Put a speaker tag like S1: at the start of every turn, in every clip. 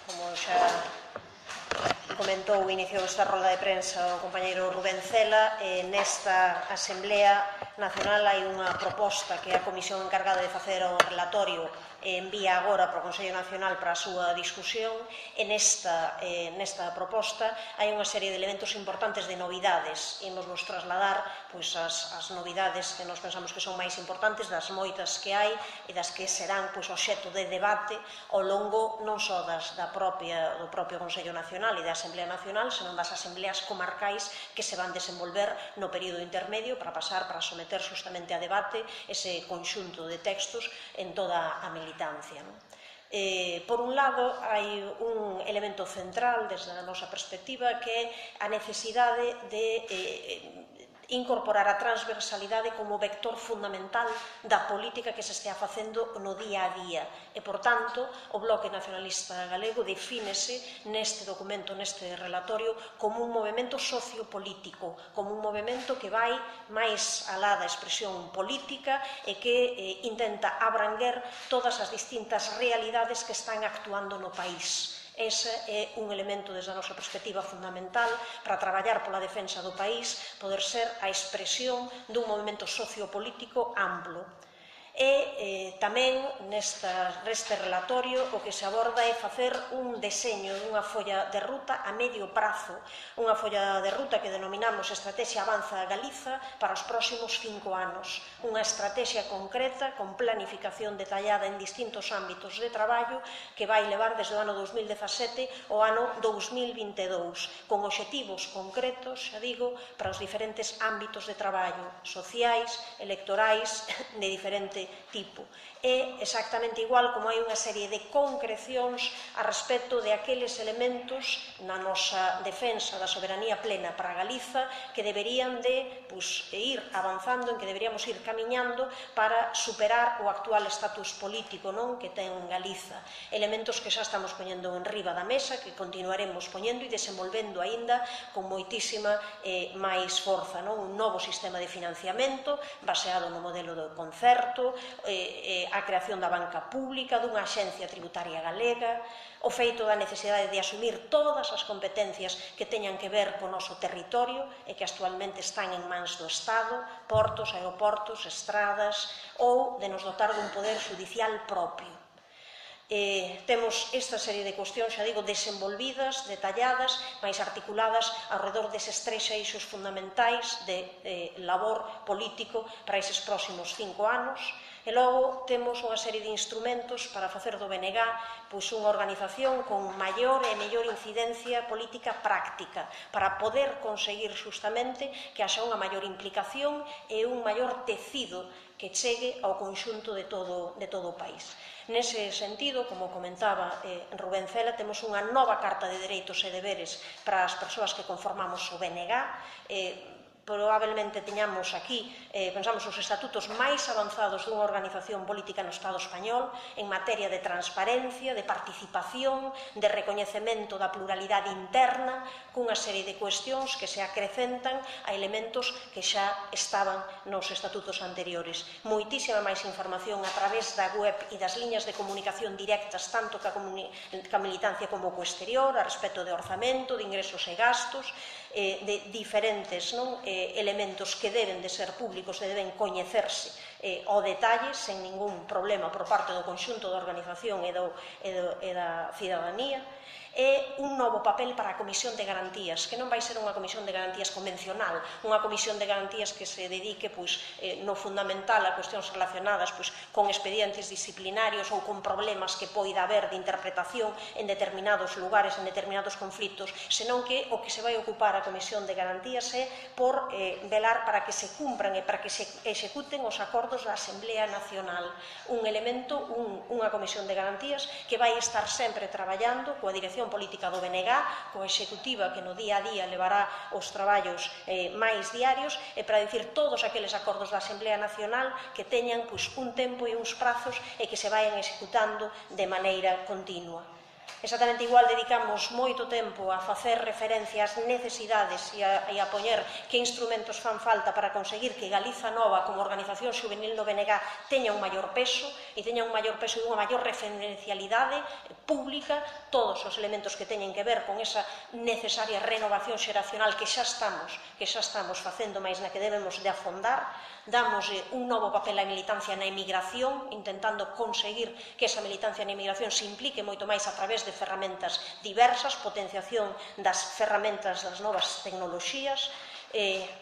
S1: Como xa comentou, iniciou esta rolda de prensa o compañeiro Rubén Cela. Nesta Asamblea Nacional hai unha proposta que a Comisión encargada de facer o relatorio envía agora para o Consello Nacional para a súa discusión. Nesta proposta hai unha serie de elementos importantes de novidades. Imos vos trasladar as novidades que nos pensamos que son máis importantes das moitas que hai e das que serán obxecto de debate ao longo non só do propio Consello Nacional e da Asamblea Nacional, senón das asambleas comarcais que se van desenvolver no período intermedio para someter justamente a debate ese conxunto de textos en toda a militancia. Por un lado, hai un elemento central desde a nosa perspectiva que é a necesidade de incorporar a transversalidade como vector fundamental da política que se estea facendo no día a día. E, por tanto, o Bloque Nacionalista Galego defínese neste documento, neste relatorio, como un movemento sociopolítico, como un movemento que vai máis alá da expresión política e que intenta abranguer todas as distintas realidades que están actuando no país. Ese é un elemento desde a nosa perspectiva fundamental para traballar pola defensa do país, poder ser a expresión dun movimento sociopolítico amplo. E tamén neste relatorio o que se aborda é facer un deseño dunha folla de ruta a medio prazo, unha folla de ruta que denominamos Estrategia Avanza Galiza para os próximos 5 anos, unha estrategia concreta con planificación detallada en distintos ámbitos de traballo que vai levar desde o ano 2017 ao ano 2022, con obxectivos concretos, xa digo, para os diferentes ámbitos de traballo, sociais, electorais, de diferente tipo. É exactamente igual como hai unha serie de concrecións a respecto de aqueles elementos na nosa defensa da soberanía plena para Galiza que deberían de ir avanzando, en que deberíamos ir camiñando para superar o actual estatus político que ten Galiza. Elementos que xa estamos poñendo en riba da mesa, que continuaremos poñendo e desenvolvendo aínda con moitísima máis forza. Un novo sistema de financiamento baseado no modelo do concerto, a creación da banca pública, dunha axencia tributaria galega, o feito da necesidade de asumir todas as competencias que teñan que ver co noso territorio e que actualmente están en mans do Estado, portos, aeroportos, estradas, ou de nos dotar dun poder judicial propio. Temos esta serie de cuestións, xa digo, desenvolvidas, detalladas, máis articuladas alrededor deses 3 eixos fundamentais de labor político para eses próximos 5 anos. E logo temos unha serie de instrumentos para facer do BNG unha organización con maior e mellor incidencia política práctica, para poder conseguir justamente que haxa unha maior implicación e un maior tecido que chegue ao conxunto de todo o país. Nese sentido, como comentaba Rubén Cela, temos unha nova carta de dereitos e deberes para as persoas que conformamos o BNG. Probablemente teñamos aquí, pensamos, os estatutos máis avanzados dunha organización política no Estado español en materia de transparencia, de participación, de recoñecemento da pluralidade interna, cunha serie de cuestións que se acrecentan a elementos que xa estaban nos estatutos anteriores. Moitísima máis información a través da web e das liñas de comunicación directas, tanto ca militancia como co exterior, a respecto de orzamento, de ingresos e gastos, de diferentes elementos que deben de ser públicos e deben coñecerse ao detalle, sen ningún problema por parte do conxunto da organización e da cidadanía. É un novo papel para a Comisión de Garantías, que non vai ser unha Comisión de Garantías convencional, unha Comisión de Garantías que se dedique no fundamental a cuestións relacionadas con expedientes disciplinarios ou con problemas que poida haber de interpretación en determinados lugares, en determinados conflitos, senón que o que se vai ocupar a Comisión de Garantías é por velar para que se cumpran e para que se executen os acordos da Asamblea Nacional. Un elemento, unha Comisión de Garantías que vai estar sempre traballando coa dirección política do BNG, coa executiva que no día a día levará os traballos máis diarios, e para dicir todos aqueles acordos da Asamblea Nacional que teñan un tempo e uns prazos e que se vayan executando de maneira continua. Exactamente igual dedicamos moito tempo a facer referencia ás necesidades e a poñer que instrumentos fan falta para conseguir que Galiza Nova como organización juvenil do BNG teña un maior peso e teña un maior peso e unha maior referencialidade pública, todos os elementos que teñen que ver con esa necesaria renovación xeracional que xa estamos facendo, máis na que debemos de afondar. Damos un novo papel á militancia na emigración, intentando conseguir que esa militancia na emigración se implique moito máis a través de ferramentas diversas, potenciación das ferramentas das novas tecnoloxías,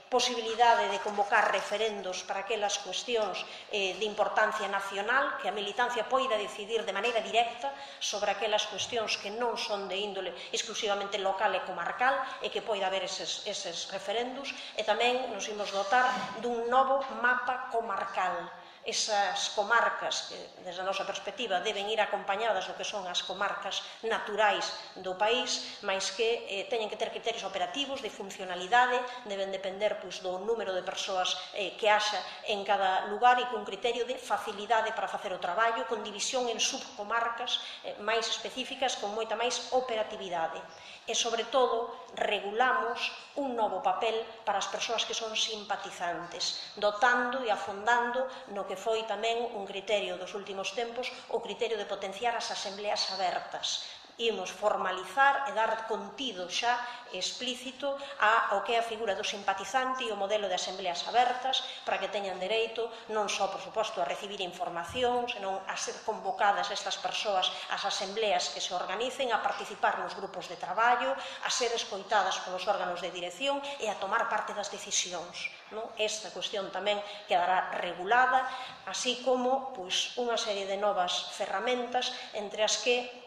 S1: posibilidade de convocar referendos para aquelas cuestións de importancia nacional, que a militancia poida decidir de maneira directa sobre aquelas cuestións que non son de índole exclusivamente local e comarcal e que poida haber eses referendos, e tamén nos imos dotar dun novo mapa comarcal. Esas comarcas, que, desde a nosa perspectiva, deben ir acompañadas do que son as comarcas naturais do país, mais que teñen que ter criterios operativos, de funcionalidade, deben depender do número de persoas que haxa en cada lugar e cun criterio de facilidade para facer o traballo, con división en subcomarcas máis específicas, con moita máis operatividade. E, sobre todo, regulamos un novo papel para as persoas que son simpatizantes, dotando e afondando no que foi tamén un criterio dos últimos tempos, o criterio de potenciar as asembleas abertas. Imos formalizar e dar contido xa explícito ao que é a figura do simpatizante e o modelo de asembleas abertas para que teñan dereito non só, por suposto, a recibir información, senón a ser convocadas estas persoas ás asembleas que se organicen, a participar nos grupos de traballo, a ser escoitadas polos órganos de dirección e a tomar parte das decisións. Esta cuestión tamén quedará regulada, así como unha serie de novas ferramentas entre as que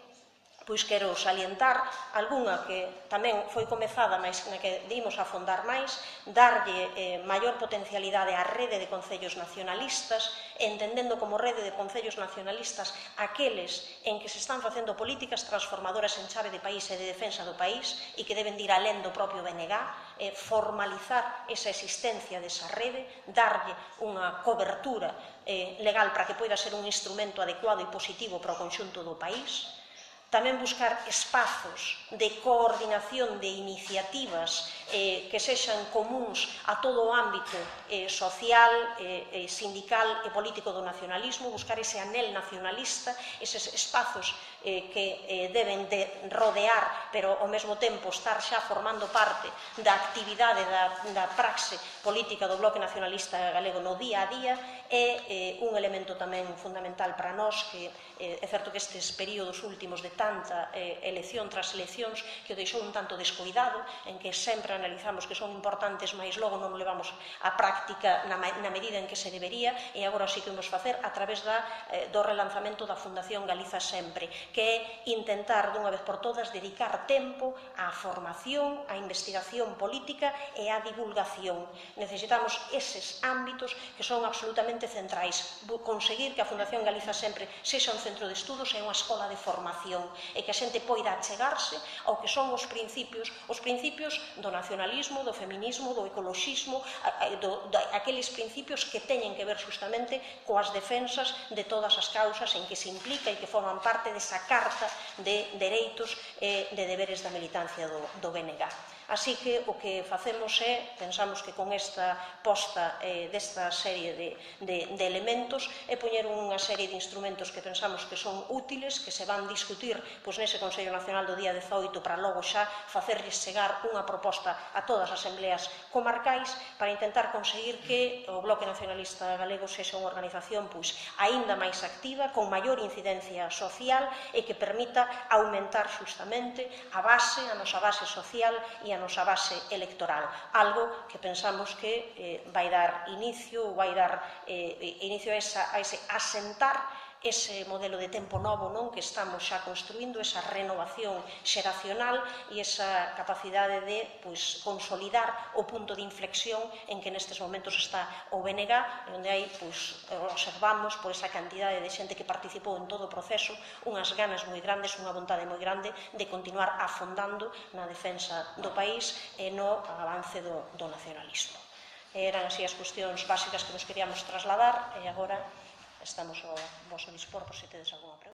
S1: quero salientar algunha que tamén foi comezada, mas na que dimos a afondar máis, darlle maior potencialidade á rede de concellos nacionalistas, entendendo como rede de concellos nacionalistas aqueles en que se están facendo políticas transformadoras en chave de país e de defensa do país e que deben ir alén do propio BNG, formalizar esa existencia desa rede, darlle unha cobertura legal para que poida ser un instrumento adecuado e positivo para o conxunto do país. Tamén buscar espazos de coordinación de iniciativas que sexan comuns a todo o ámbito social, sindical e político do nacionalismo, buscar ese anel nacionalista, eses espazos que deben de rodear, pero ao mesmo tempo estar xa formando parte da actividade da praxe política do Bloque Nacionalista Galego no día a día, é un elemento tamén fundamental para nós, que é certo que estes períodos últimos de tanta elección tras eleccións que o deixou un tanto descoidado, en que sempre analizamos que son importantes, mas logo non o levamos á práctica na medida en que se debería, e agora sí que imos facer a través do relanzamento da Fundación Galiza Sempre, que é intentar dunha vez por todas dedicar tempo á formación, á investigación política e á divulgación. Necesitamos eses ámbitos que son absolutamente centrais, conseguir que a Fundación Galiza Sempre sexa un centro de estudos e unha escola de formación, e que a xente poida achegarse ao que son os principios do nacionalismo, do feminismo, do ecoloxismo, aqueles principios que teñen que ver justamente coas defensas de todas as causas en que se implica e que forman parte desa carta de dereitos e de deberes da militancia do BNG. Así que o que facemos pensamos que con esta posta desta serie de elementos é poñer unha serie de instrumentos que pensamos que son útiles, que se van discutir nese Consello Nacional do día 18 para logo xa facerlles chegar unha proposta a todas as asembleas comarcais para intentar conseguir que o Bloque Nacionalista Galego sexa unha organización aínda máis activa, con maior incidencia social e que permita aumentar justamente a nosa base social e a nosa base electoral, algo que pensamos que vai dar inicio a ese asentar ese modelo de tempo novo que estamos xa construindo, esa renovación xeracional e esa capacidade de consolidar o punto de inflexión en que nestes momentos está o BNG, onde hai, observamos por esa cantidade de xente que participou en todo o proceso, unhas ganas moi grandes, unha vontade moi grande de continuar afondando na defensa do país e no avance do nacionalismo. Eran así as cuestións básicas que nos queríamos trasladar e agora estamos ao vosso dispor por se tedes algunha pregunta.